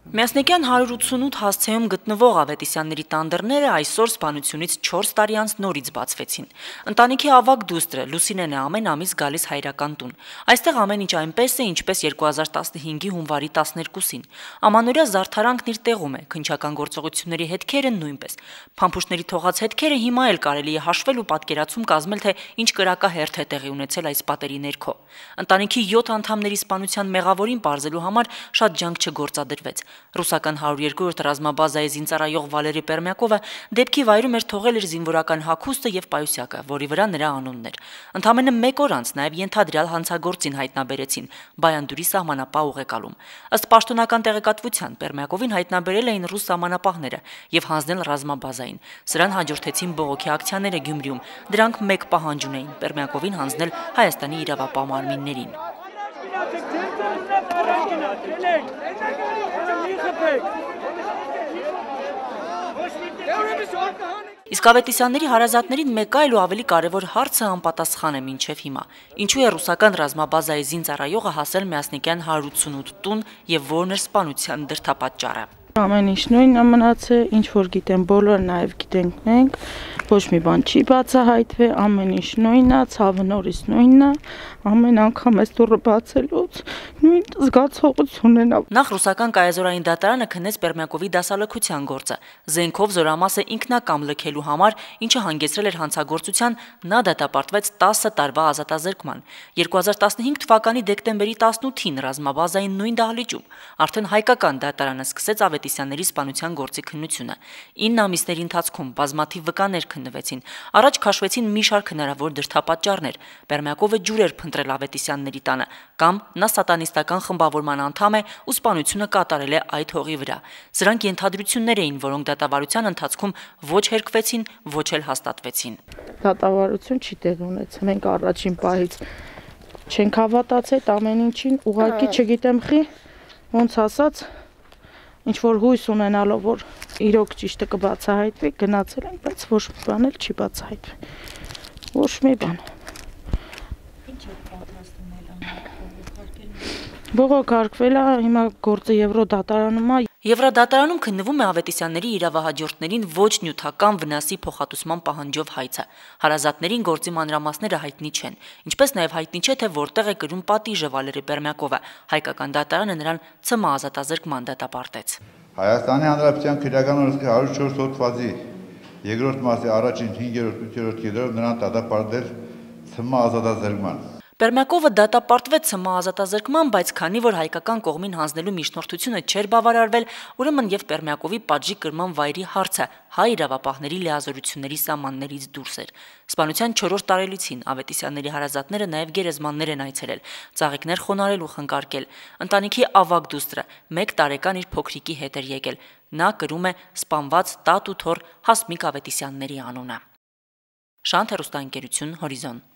Միասնիկյան 188 հասցեում գտնվող Ավետիսյանների տանդրները այսօր սպանությունից 4 տարի անց նորից բացվեցին։ Ընտանիքի ավագ դուստրը Լուսինեն է ամեն ամիս գալիս հայրական տուն։ Այստեղ ամեն ինչ այնպես է, ինչպես 2015-ի հունվարի 12-ին։ Ամանորյա զարդարանքն իր տեղում է, քննչական գործողությունների հետքերը նույնպես։ Փամփուշտների թողած հետքերը հիմա էլ կարելի է հաշվել ու պատկերացում կազմել, թե ինչ կրակահերթ է տեղի ունեցել այս պատերի ներքո։ Ընտանիքի 7 անդամների սպանության մեղավորին պարզելու համար շատ ջանք չգործադրվեց։ Ռուսական 102-րդ ռազմաբազայի զինծառայող Վալերի Պերմյակովը դեպքի վայրում էր թողել իր զինվորական հագուստը եւ պայուսակը, որի վրա նրա անունն էր։ Ընդամենը 1 օր անց նաեւ ենթադրյալ հանցագործին հայտնաբերեցին Բայանդուրի սահմանապահ ուղեկալում։ Ըստ պաշտոնական տեղեկատվության Պերմյակովին հայտնաբերել էին ռուս սահմանապահները եւ հանձնել ռազմաբազային։ Սրան հաջորդեցին բողոքի ակցիաները Գյումրիում։ Դրանք մեկ պահանջ ունեին՝ Պերմյակովին հանձնել Հայաստանի իրավապահ մարմիններին։ Իսկ Ավետիսյանների հարազատներին մեկ այլ ու ավելի կարևոր հարցը անպատասխան է մինչև հիմա։ Ինչու է ռուսական ռազմաբազայի զինծառայողը հասել Միասնիկյան 188 տուն եւ որն էր սպանության դրդապատճառը։ Ամեն ինչ նույնն է մնացել, ինչ որ գիտեն բոլորը, նաև գիտենք մենք, ոչ մի բան չի բացահայտվել, ամեն ինչ նույնն է, ցավը նորից նույնն է, ամեն անգամ այս դուռը բացելուց նույն զգացողությունն է։ Նախ ռուսական կայազորային դատարանը քննեց Պերմյակովի դասալքության գործը, զենքով զորամասը ինքնակամ լքելու համար, ինչը հանգեցրել էր հանցագործության, նա դատապարտվեց 10 տարվա ազատազրկման։ 2015 թվականի դեկտեմբերի 18-ին ռազմաբազային նույն դահլիճում արդեն հայկական դատարանը սկսեց Ավետիսյանների սպանության գործի քննությունը։ 9 ամիսների ընթացքում բազմաթիվ վկաներ քննվեցին։ Առաջ քաշվեցին մի շարք հնարավոր դրդապատճառներ։ Պերմյակովը ջուր էր փնտրել Ավետիսյանների տանը, կամ նա սատանիստական խմբավորման անդամ է ու սպանությունը կատարել է այդ հողի վրա։ Սրանք ենթադրություններ էին, որոնք դատավարության ընթացքում ոչ հերկվեցին, ոչ էլ հաստատվեցին։ Դատավարություն չի տեղի ունեցել։ Մենք առաջին պահից չենք հավատացել ամեն ինչին, ուղղակի չգիտեմ խի, ոնց ասած, ինչ որ հույս ունենալով, որ իրոք ճիշտը կբացահայտվի, գնացել ենք, բայց ոչ մի բան էլ չի բացահայտվել։ Ոչ մի բան։ Ինչ է պատրաստում բողոքարկվել է, հիմա գործը Եվրոդատարանում է։ Եվրոդատարանում քննվում է Ավետիսյանների իրավահաջորդներին ոչ նյութական վնասի փոխհատուցման պահանջով հայցը։ Հարազատներին գործի մանրամասները հայտնի չեն, ինչպես նաև հայտնի չէ, թե որտեղ է կրում պատիժը Վալերի Պերմյակովը։ Հայկական դատարանը նրան ՑՄ ազատազրկման դատապարտեց։ Հայաստանի Հանրապետության քրեական օրենսգրքի 104 հոդվածի երկրորդ մասի առաջին 5-րդ 8-րդ կետերով նրան դատապարտել ՑՄ ազատազրկման։ Պերմյակովը դատապարտվեց ՑՄ ազատազրկման, բայց քանի որ հայկական կողմին հանձնելու միջնորդությունը չէր բավարարվել, ուրեմն եւ Պերմյակովի պատժի կրման վայրի հարցը հայ իրավապահների լիազորությունների սահմաններից դուրս էր։ Սպանության 4-րդ տարելիցին Ավետիսյանների հարազատները նաեւ գերեզմաններ են այցելել, ծաղիկներ խոնարհել ու խնկարկել։ Ընտանիքի ավագ դուստրը 1 տարեկան իր փոքրիկի հետ էր եկել։ Նա կրում է սպանված տատ ու թոռ Հասմիկ Ավետիսյանների անունը։ Շանթ հեռուստաընկերություն Հորիզոն։